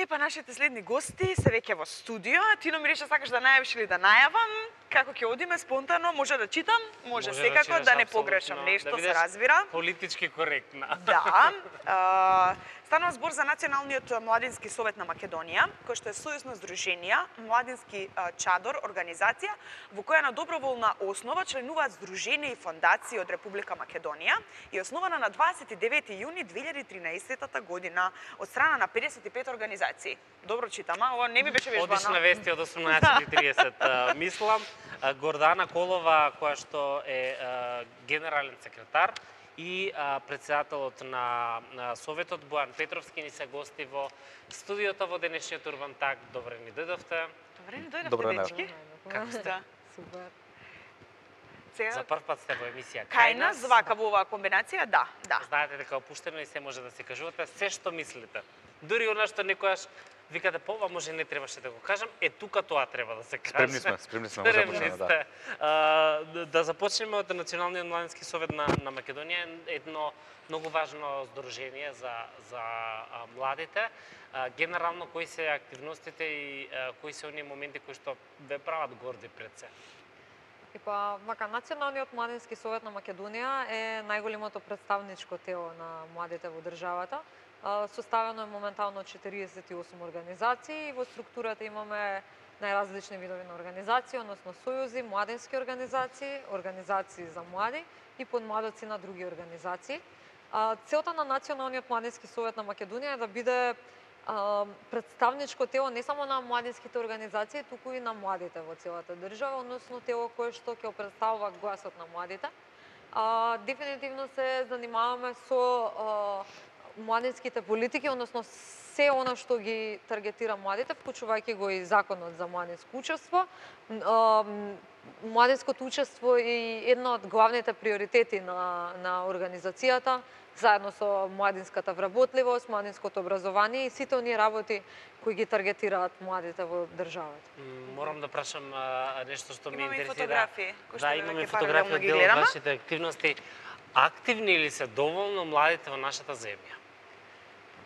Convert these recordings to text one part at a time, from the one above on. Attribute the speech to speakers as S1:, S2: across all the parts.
S1: па нашите следни гости се веќе во студио. Тино ми рече сакаш да најавиш или да најавам? Како ќе одиме спонтано? Може да читам, може секако да не погрешам нешто, се разбира.
S2: Политички коректна.
S1: Да. Станува збор за Националниот младински совет на Македонија, кој што е сојузно здруженија, младински чадор организација, во која на доброволна основа членуваат здруженија и фондации од Република Македонија и основана на 29 јуни 2013 година од страна на 55 организации. Добро читам, ова не ми беше вежбано.
S2: Одишна вести од 18:30, мислам. Гордана Колова, која што е генерален секретар, и председателот на Советот Бојан Петровски ни се гости во студиото во денешниот Урбан Так. Добре ни дојдовте.
S1: Добре ни дојдовте, дечки.
S2: Како сте?
S3: Супер.
S2: За прв пат сте во емисија
S1: Кај нас, вака во оваа комбинација, да.
S2: Знаете дека опуштено и се може да се кажувате се што мислите. Дури она што некојаш викате, ова може не требаше да го кажам, тука тоа треба да се каже.
S4: Спремни сме, може да почнеме, да.
S2: Да започнеме од Националниот младински совет на Македонија, едно многу важно здружение за младите. Генерално, кои се активностите и кои се оние моменти кои што ве прават горди пред се?
S3: Вака, Националниот младински совет на Македонија е најголемото представничко тело на младите во државата. Составено е моментално 48 организации и во структурата имаме најразлични видови на организации, односно сојузи, младински организации, организации за млади и подмладоци на други организации. Целта на Националниот младински совет на Македонија е да биде представничко тело не само на младинските организации, туку и на младите во целата држава, односно тело кое што ќе представува гласот на младите. Дефинитивно се занимаваме со младинските политики, односно се она што ги таргетира младите, вклучувајќи го и законот за младинско учество. Младинското учество е едно од главните приоритети на организацијата, заедно со младинската вработливост, младинското образование и сите оние работи кои ги таргетираат младите во државата.
S2: Морам да прашам нешто што ме
S1: интересира.
S2: Имаме
S1: фотографии.
S2: Да, имаме фотографии од дел од вашите активности. Активни ли се доволно младите во нашата земја?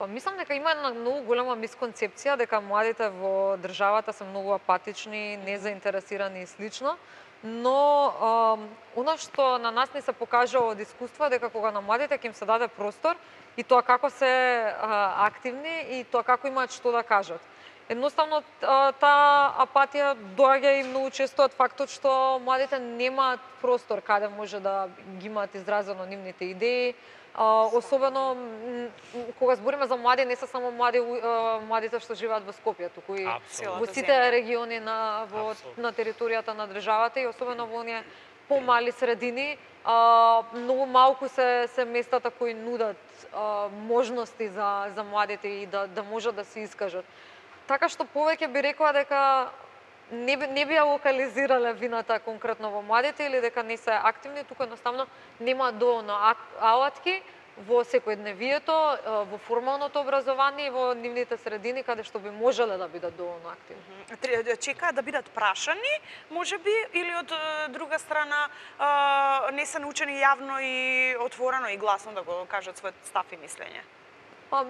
S3: Мислам дека има една многу голема мисконцепција дека младите во државата се многу апатични, незаинтересирани и слично, но она што на нас не се покажува од искуство дека кога на младите ќе им се даде простор и тоа како се активни и тоа како имаат што да кажат. Едноставно таа апатија доаѓа и многу често од фактот што младите немаат простор каде може да ги имаат изразено нивните идеи. Особено кога збориме за млади, не се само младите што живеат во Скопје, туку и во сите региони на територијата на државата и особено во оние помали средини, многу малку се местата кои нудат можности за младите и да можат да се искажат. Така што повеќе би рекла дека не би ја локализирале вината конкретно во младите или дека не се активни, туку едноставно немаат доволно алатки во секојдневието, во формалното образование и во нивните средини каде што би можеле да бидат доволно активни.
S1: Чекаат да бидат прашани, можеби, или од друга страна не се научени јавно и отворено и гласно да го кажат својот став и мислење?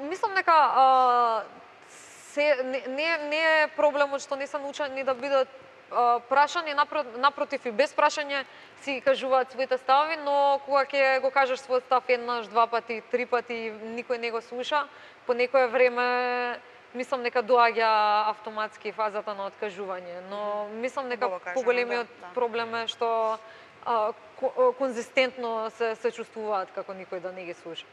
S3: Мислам дека не е проблемот што не се научени да бидат прашани, напротив и без прашање си кажуваат своите ставови, но кога ќе го кажеш својот став еднаш, два пати, три пати, никој не го слуша, по некое време мислам дека доаѓа автоматски фазата на откажување, но мислам дека поголемиот проблем е што конзистентно се чувствуваат како никој да не ги слуша.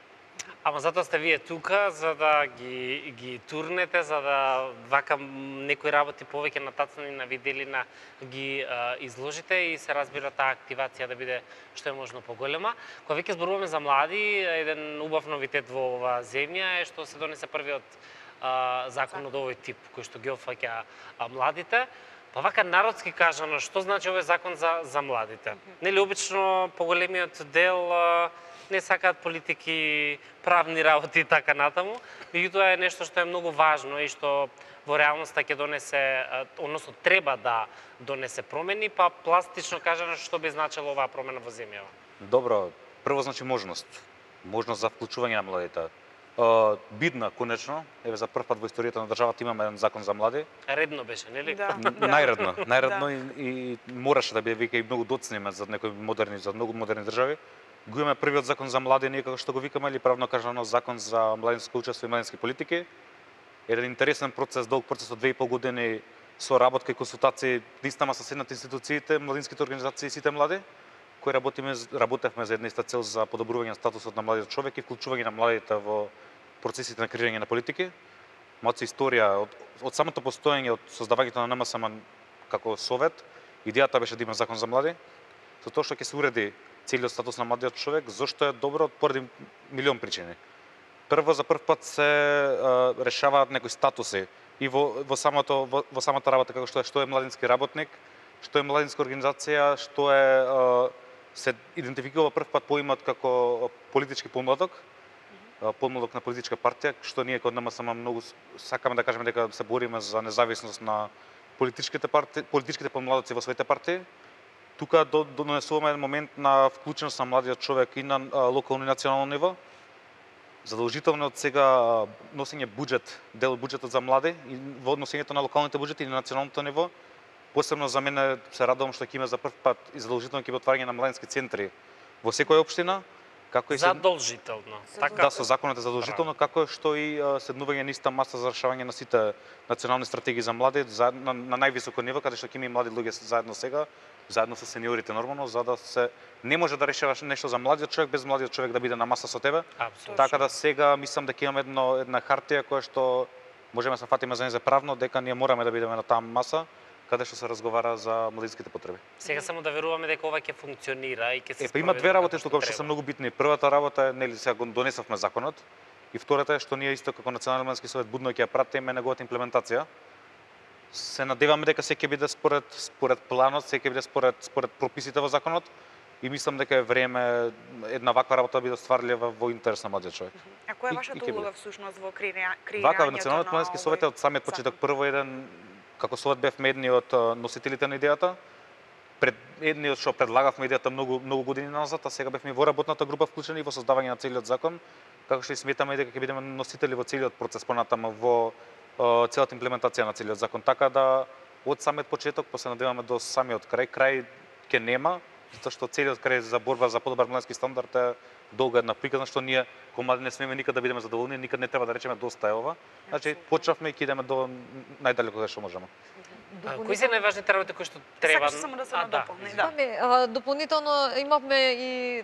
S2: Ама затоа сте вие тука, за да ги турнете, за да вака некои работи повеќе натацани на виделина ги изложите и се разбира таа активација да биде што е можно поголема. Кога веќе зборуваме за млади, еден убав новитет во оваа земја е што се донесе првиот закон од овој тип, кој што ги опфаќа младите. Па вака народски кажано, што значи овој закон за младите? Нели обично поголемиот дел не сакаат политики, правни работи и така натаму, меѓутоа е нешто што е многу важно и што во реалноста ќе донесе, односно треба да донесе промени, па пластично кажано што би значило оваа промена во земјава?
S4: Добро, прво значи можност за вклучување на младите. Бидна конечно, еве за прв пат во историјата на државата имаме еден закон за млади.
S2: Редно беше, нели?
S1: Да.
S4: Најредно и мораше да биде вика и многу доцниме за многу модерни држави. Го имаме првиот закон за млади, ние како што го викаме, или правно кажано закон за младинско учество и младински политики. Еден интересен процес, долг процес од 2,5 години со работка и консултации наистина со седнат институциите, младинските организации и сите млади, кои работевме за една иста цел за подобрување на статусот на младиот човек и вклучување на младите во процесите на креирање на политики. Малку историја од самото постоење, од создавањето на НМСМ како совет, идејата беше да има закон за млади, со тоа што ќе се уреди целиот статус на младиот човек, зошто е добро поради милион причини. Прво, за прв пат се решаваат некои статуси и во самата работа, како што е младински работник, што е младинска организација, што е се идентификува прв пат поимот како политички помладок, помладок на политичка партија, што ние кod НМСМ многу сакаме да кажеме дека се бориме за независност на политичките помладоци во своите партии. Тука донесуваме еден момент на вклученост на младиот човек и на локално и национално ниво. Задолжително од сега носење буџет, дел од буџетот за млади и во носењето на локалните буџети и на националното ниво. Посебно за мене се радувам што ќе има за прв пат и задолжително ќе има отварање на младински центри во секоја општина. Како и
S2: задолжително.
S4: Така да, со законот е задолжително, како што и седнување на иста маса за решавање на сите национални стратегии за млади на највисоко ниво, каде што ќе има и млади луѓе заедно сега, заедно со сениорите нормално, за да се не може да решаваш нешто за младиот човек без младиот човек да биде на маса со тебе.
S2: Апсолутно.
S4: Така да сега мислам дека имаме една хартија која што можеме да се фатиме за нејзе правно дека ние мораме да бидеме на таа маса каде што се разговара за младинските потреби.
S2: Сега само да веруваме дека ова ќе функционира и ќе се
S4: има две работи што се многу битни. Првата работа е нели сега го донесовме законот и втората е што ние исто како Национален младински совет будно ќе ја пратиме неговата имплементација. Се надеваме дека се ќе биде според планот, се ќе биде според прописите во законот и мислам дека е време една ваква работа да биде стварлива во интерес на младиот човек.
S1: А која е вашата улога всушност во креирањето
S4: Вака Националниот младински совет од самиот почеток прво еден како совет бевме едни од носителите на идејата, едни од што предлагавме идејата многу години назад, а сега бевме во работната група вклучени во создавање на целиот закон, како што и сметаме дека ќе бидеме носители во целиот процес понатаму во целата имплементација на целиот закон. Така да од самиот почеток, па се надеваме до самиот крај ќе нема, затоа што целиот крај за борба за подобар младински стандард е долга една приказна што ние кои млади не смееме никад да бидеме задоволни, никад не треба да речеме доста е ова. Значи почнавме и ќе идеме до најдалеку каде што можеме.
S2: Кои се најважните работи кои што треба?
S1: Сакаш само да се надополни,
S3: Дополнително имавме и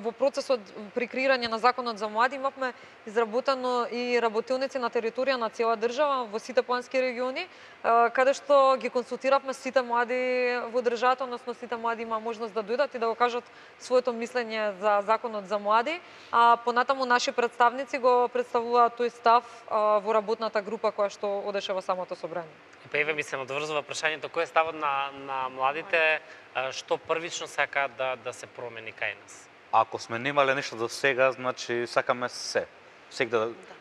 S3: во процесот при креирање на законот за млади имавме изработено и работилници на територија на цела држава во сите плански региони, каде што ги консултиравме сите млади во државата, односно сите млади има можност да дојдат и да го кажат своето мислење за законот за млади, а понатаму наши представници го представуваат тој став во работната група која што одеше во самото собрание.
S2: Па еве ми се надврзува прашањето кој е ставот на младите, што првично сакаат да се промени кај нас.
S4: Ако сме немале нешто до сега, значи сакаме се.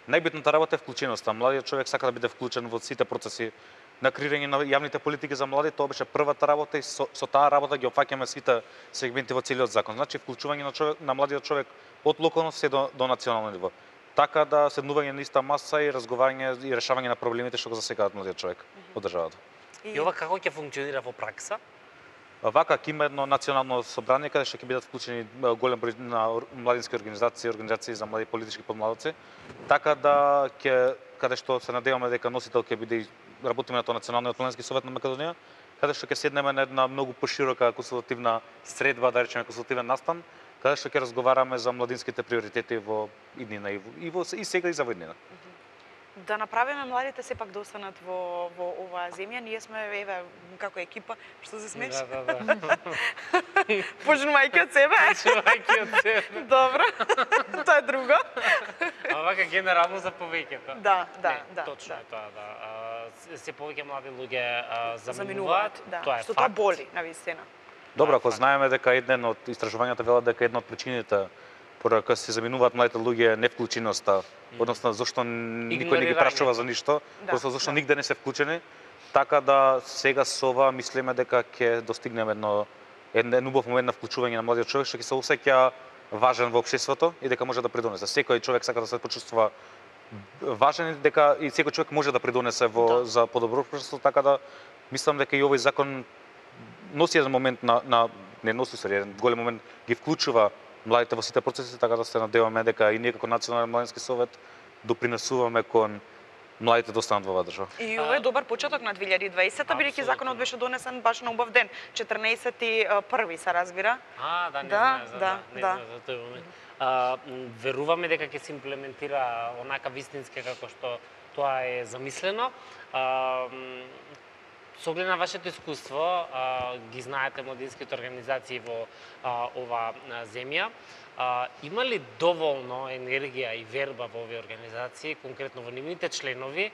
S4: Најбитната работа е вклученоста. Младиот човек сака да биде вклучен во сите процеси на креирање на јавните политики за млади, тоа беше првата работа и со таа работа ги опфаќаме сите сегменти во целиот закон. Значи вклучување на младиот човек од локално се до национално ниво. Така да седнување на иста маса и разговарање и решавање на проблемите што го засекаат младиот човек од државата.
S2: И ова како ќе функционира во пракса?
S4: Вака ќе има едно национално собрание каде што ќе бидат вклучени голем број на младински организации за млади политички подмладоци, така да каде што се надеваме дека носител ќе биде работиме на тоа Националниот младински совет на Македонија, каде што ќе седнеме на една многу поширока консултативна средба, да речеме консултативен настан, каде што ќе разговараме за младинските приоритети во иднина и сега и за иднина.
S1: Да направиме младите сепак да останат во оваа земја. Ние сме еве како екипа, што се смееш?
S2: Да.
S1: Почнувајќи од себе. Добро. Тоа е друго.
S2: А вака генерално за повеќето.
S1: Да.
S2: Точно е тоа, да. Се повеќе млади луѓе заминуваат,
S1: да.
S2: тоа е
S1: што
S2: факт.
S1: тоа боли, навистина.
S4: Добро, ако знаеме дека еден од истражувањата велат дека една од причините поради која се заминуваат младите луѓе е невклученоста, односно зашто никој не ги прашува за ништо, просто зашто нигде не се вклучени, така да сега со ова мислиме дека ќе достигнеме еден убав момент на вклучување на младиот човек што ќе се осеќа важен во општеството и дека може да придонесе. Секој човек сака да се почувствува важен и дека и секој човек може да придонесе за подобро општество, така да мислам дека и овој закон носи еден момент не носи еден голем момент ги вклучува младите во сите процеси, така да се надеваме дека и ние како Национален младински совет допринесуваме кон младите да останат во оваа држава.
S1: И ова е добар почеток на 2020-та, бидејќи законот беше донесен баш на убав ден, 14.1 се разбира.
S2: Не знае за тој момент. Веруваме дека ќе се имплементира онака вистински како што тоа е замислено. Со оглед на вашето искуство, ги знаете младинските организации во ова земја, има ли доволно енергија и верба во овие организации, конкретно во нивните членови,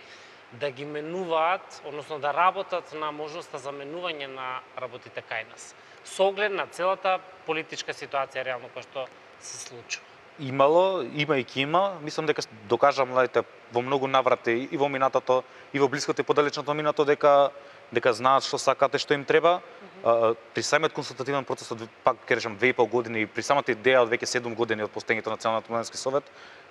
S2: да ги менуваат, односно да работат на можноста за менување на работите кај нас, со оглед на целата политичка ситуација реално која што се случува?
S4: Имало, има и ќе има. Мислам дека докажа младите во многу наврати и во минатото, и во блиското и подалечното минато дека знаат што сакаат и што им треба. При самиот консултативен процес од пак ќе речам 2,5 години и при самата идеја од веќе 7 години од постоењето на Националниот младински совет,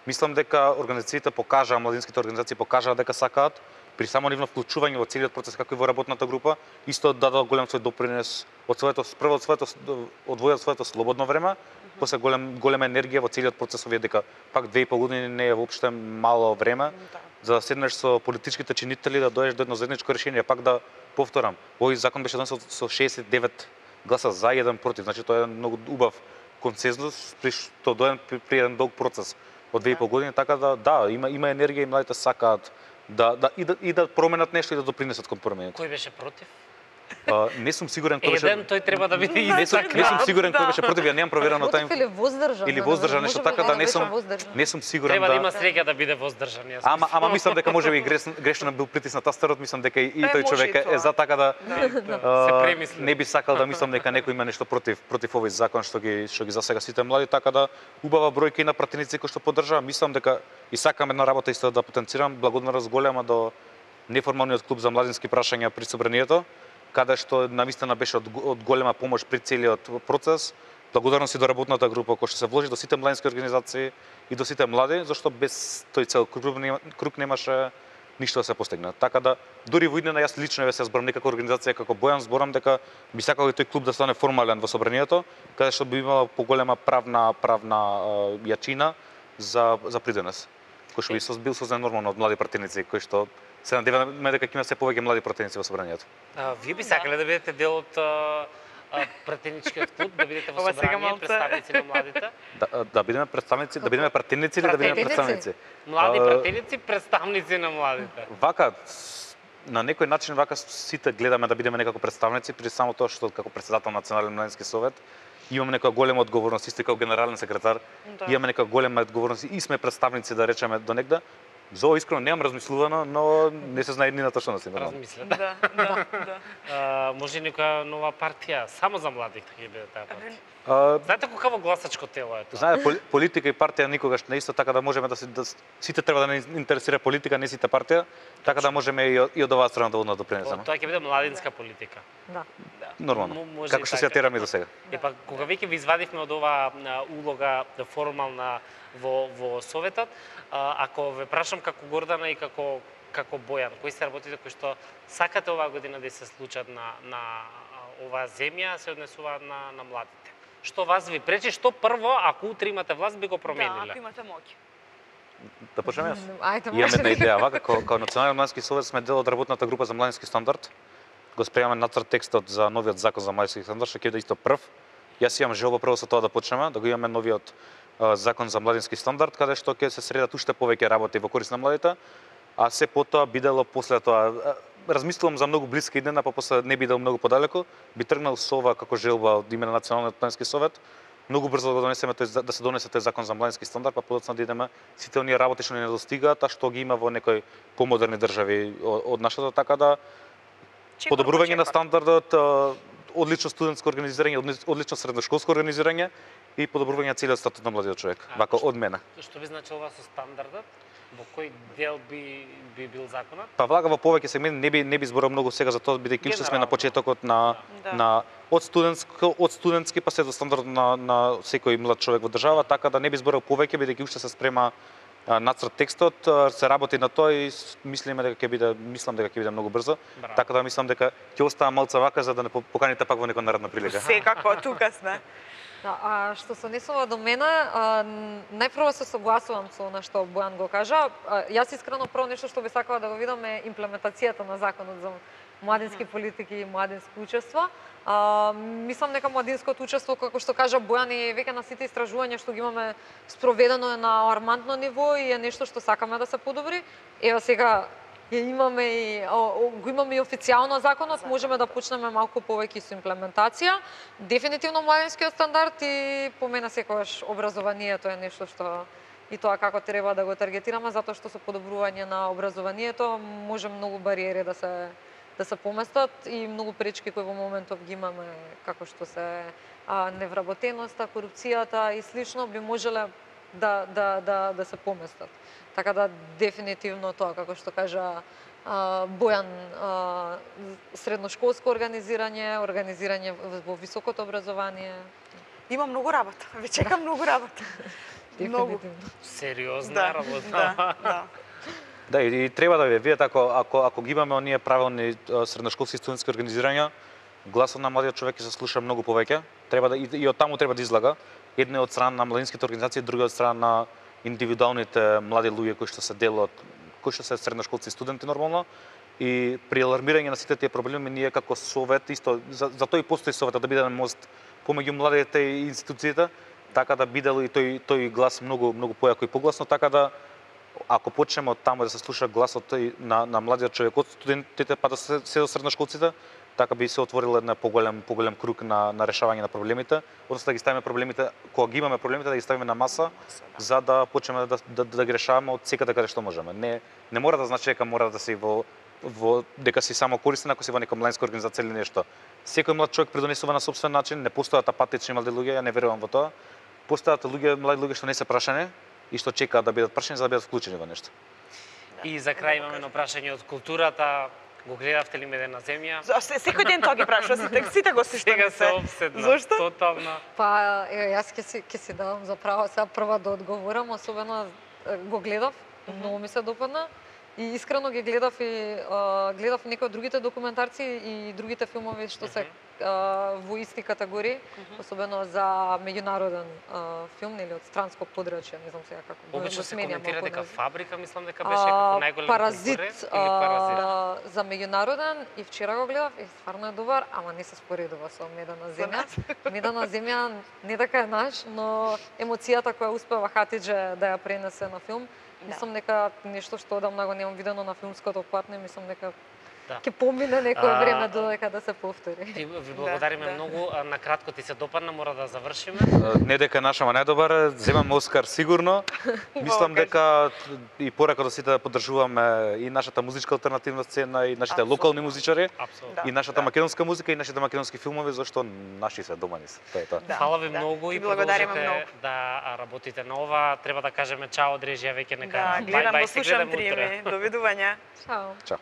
S4: мислам дека организациите покажаа, младинските организации покажаа дека сакаат при само нивно вклучување во целиот процес како и во работната група, исто дадоа голем свој допринес од одвојат своето слободно време, после голема енергија во целиот процес, овие дека пак 2,5 години не е воопште мало време за да седнеш со политичките чинители да дојдеш до едно заедничко решение. Пак да повторам, овој закон беше донесен со 69 гласа за и 1 против, значи тоа е многу убав консензус при што доен при еден долг процес од 2,5 години, така да, има енергија и младите сакаат да променат нешто и да допринесат кон промените.
S2: Кој беше против?
S4: Не сум сигурен кој беше.
S2: Тој треба да биде
S4: не сум сигурен кој беше против, ја немам проверено тај.
S3: Или воздржан.
S4: Или воздржан, нешто така да не сум сигурен.
S2: Треба да има среќа да биде воздржан.
S4: Ама мислам дека можеби грешно бил притиснат тастерот, мислам дека и тој човек е за така да
S2: се премисли.
S4: Не би сакал да мислам дека некој има нешто против овој закон што ги засега сите млади, така да убава бројка и на пратеници кои што поддржаа. Мислам дека и сакам една работа исто да потенцирам, благодарност голема до неформалниот клуб за младински прашања при собранието, каде што навистина беше од голема помош при целиот процес. Благодарност и до работната група која што се вложи, до сите младински организации и до сите млади, зашто без тој цел круг немаше ништо да се постигне. Така да дури во иднина јас лично се зборам некако организација како Бојан, зборам дека би сакал и тој клуб да стане формален во собранието, каде што би имала поголема правна јачина за придонес, кој што би бил создаден нормално од млади пратеници кои што се надеваме дека ќе има се повеќе млади пратеници во собранието.
S2: Вие би сакале да бидете дел од пратеничкиот клуб, да бидете во собрание представници на младите?
S4: Да бидеме представници, да бидеме пратеници или да бидеме представници?
S2: Млади пратеници, представници на младите.
S4: Вака на некој начин вака сите гледаме да бидеме некако представници, при само тоа што како претседател на Национален младински совет имаме некоја голема одговорност, исто како генерален секретар, имаме некоја голема одговорност и сме представници да речеме до негде. За ова искрено немам размислувано, но не се знае еднината што нас има.
S2: Размислете.
S1: Да.
S2: Може некоја нова партија само за младите ќе биде таа партија. Знаете колку гласачко тело е тоа?
S4: Знаете, политика и партија никогаш не исто, така да можеме да сите треба да не интересира политика, не сите партија, така да можеме и од оваа страна да допринесеме.
S2: Тоа ќе биде младинска политика.
S3: Да.
S4: Нормално. Како што се тераме до сега.
S2: Епа кога веќе ви извадивме од оваа улога формална во советот, ако ве прашам како Гордана и како Бојан, кои се работите кои што сакате оваа година да се случат на оваа земја, се однесуваат на младите? Што вас ви пречи, што прво, ако утре имате власт, би го промениле?
S1: Да, ако имате моќ.
S4: Да почнеме јас?
S3: Ајде,
S4: Имаме една идеја, вака како Национален младински совет сме дел од работната група за младински стандард. Го спремаме нацрт текстот за новиот закон за младински стандард, што ќе биде исто прв. Јас имам желба прво со тоа да почнеме, да го имаме новиот закон за младински стандард, каде што ќе се средат уште повеќе работи во корист на младите, а се потоа бидело после тоа. Размислувам за многу блиска иднина, па после не бидел многу подалеку, би тргнал со ова како желба од име на Националниот младински совет. Многу брзо да донесеме да се донесе тој закон за младински стандард, па подоцна да идеме сите оние работи што не недостигаат, а што ги има во некои помодерни држави од нашата, така да подобрување на стандардот, одлично студентско организирање, одлично средношколско организирање и подобрување на целиот статут на младиот човек. Вака од мене.
S2: Што би значило со стандардот? Во кој дел би бил законот?
S4: Па влага во повеќе сегменти, не би зборал многу сега за тоа, бидејќи уште сме на почетокот на од студентски па се до стандардот на секој млад човек во држава, така да не би зборал повеќе, бидејќи уште се спрема нацрт текстот, се работи на тоа и мислам дека ќе биде многу брзо.
S2: Браво.
S4: Така да мислам дека ќе остава малце вака за да не поканите пак во некоја наредна прилика.
S1: Секако, тука сме.
S3: Да, што се однесува до мене, најпрво се согласувам со она што Бојан го кажа. Јас искрено прво нешто што би сакала да го видам е имплементацијата на законот за младински политики и младинско учество. Мислам дека младинското учество, како што кажа Бојан, и веќе на сите истражувања што ги имаме спроведено е на алармантно ниво и е нешто што сакаме да се подобри. Ева сега го имаме и официјално законот, можеме да почнеме малку повеќе со имплементација. Дефинитивно младинскиот стандард и по мене секогаш образованието е нешто што и тоа како треба да го таргетираме, затоа што со подобрување на образованието може многу бариери да се поместат и многу пречки кои во моментов ги имаме, како што се невработеноста, корупцијата и слично, би можеле да се поместат. Така да дефинитивно тоа, како што кажа Бојан, средношколско организирање во високото образование.
S1: Има многу работа, ве чека многу работа. Многу.
S2: Сериозна работа.
S1: Да.
S4: И треба да видите ако ги имаме оние правилни средношколски студентски организирања, гласот на младиот човек ќе се слуша многу повеќе. Треба да и од таму треба да излага. Едно од страна на младинските организации, друго од страна на индивидуалните млади луѓе кои што се дел од кои што се средношколци студенти нормално. И при алармирање на сите тие проблеми ние како совет исто за тој постои советот да биде мост помеѓу младите и институциите, така да биде и тој глас многу појако и погласно, така да ако почнеме од таму да се слуша гласот на младиот човек од студентите па да се до средношколците, така би се отворил една поголем круг на решавање на проблемите, односно да ги ставиме проблемите, кога ги имаме проблемите да ги ставиме на маса, за да почнеме да ги решаваме од секаде каде што можеме. Не мора да значи дека мора да си дека си само користен ако си во нека младинска организација или нешто. Секој млад човек придонесува на сопствен начин, не постојат апатични млади луѓе, ја не верувам во тоа. Постојат млади луѓе што не се прашани и што чекаат да бидат прашани за да бидат вклучени во нешто.
S2: И за крај имаме едно прашање од културата. Го гледавте ли Медена земја?
S1: Секој ден тоа ги прашува, сите го
S2: Сега се обседна.
S1: Зошто?
S2: Тотално.
S3: Па, јас ќе си давам за право сега прва да одговорам, особено го гледав, многу ми се допадна. И искрено ги гледав некои од другите документарци и другите филмови што се во исти категории, особено за меѓународен филм или од странско подрачје, не знам сега како го
S2: Обично се
S3: сменя
S2: коментира
S3: малку
S2: дека
S3: наziv.
S2: Фабрика, мислам дека беше како најголем
S3: Паразит,
S2: конкурент или Паразит.
S3: за меѓународен и вчера го гледав и стварно е добар, ама не се споредува со Медена земја. Медена земја не дека е наш, но емоцијата која успева Хатидже да ја пренесе на филм, мислам дека нешто што одамна го немам видено на филмското платно, мислам дека ќе помине некое време додека да се повтори.
S2: Ти ви благодариме многу, на кратко ти се допадна, мора да завршиме.
S4: Не дека наша најдобар, земаме Оскар сигурно. Мислам дека и порака до сите да поддржуваме и нашата музичка алтернативна сцена и нашите локални музичари, и нашата македонска музика и нашите македонски филмови, зашто наши се домани се. Тоа е тоа.
S2: Фала ви многу и продолжете да работите на ова. Треба да кажеме чао од режија веќе нека
S1: гледам, го слушам Трими. Довидување.
S3: Чао.
S4: Чао.